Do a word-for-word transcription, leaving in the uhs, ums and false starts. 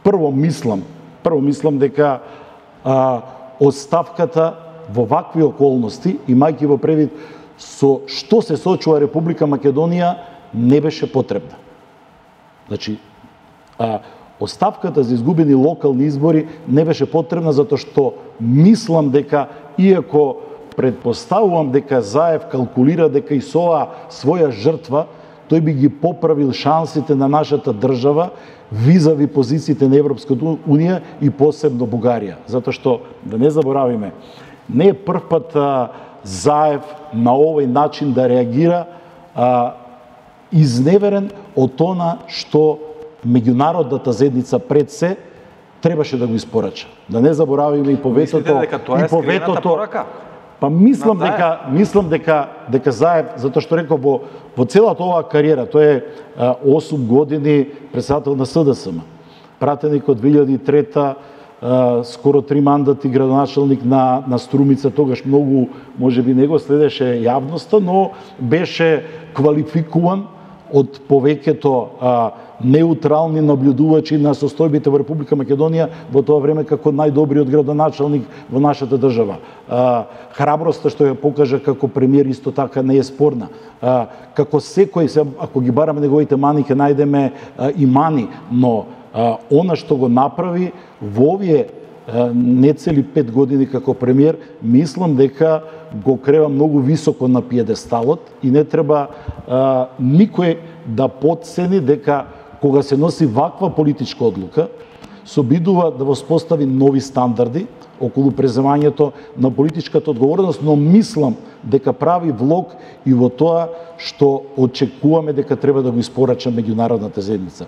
прво мислам, прво мислам дека а, оставката во вакви околности, имајќи во предвид со што се соочува Република Македонија, не беше потребна. Значи, а, оставката за изгубени локални избори не беше потребна затоа што мислам дека, иако предпоставувам дека Заев калкулира дека и со оваа своја жртва тој би ги поправил шансите на нашата држава визави позициите на Европската унија и посебно Бугарија. Затоа што, да не заборавиме, не е прв пат а, Заев на овој начин да реагира а, изневерен од она што меѓународната заедница пред се требаше да го испорача. Да не заборавиме и поветото. Мислите дека тоа е скриената порака? Па мислам дека мислам дека дека Заев, затоа што реков во во целата оваа кариера, тој е а, осум години претседател на СДСМ. Пратеник од две илјади и трета, а, скоро три мандати градоначалник на на Струмица, тогаш многу можеби не го следеше јавноста, но беше квалификуван од повеќето а, неутрални наблюдувачи на состојбите во Република Македонија во тоа време како најдобриот градоначалник во нашата држава. А, храброста што ја покажа како премиер исто така не е спорна. А, како секој, се, ако ги бараме неговите мани, ќе најдеме а, и мани, но а, она што го направи во овие не цели пет години како премиер, мислам дека го крева многу високо на пиедесталот и не треба а, никој да потцени дека кога се носи ваква политичка одлука, се обидува да воспостави нови стандарди околу преземањето на политичката одговорност, но мислам дека прави влог и во тоа што очекуваме дека треба да го испорача меѓународната заедница.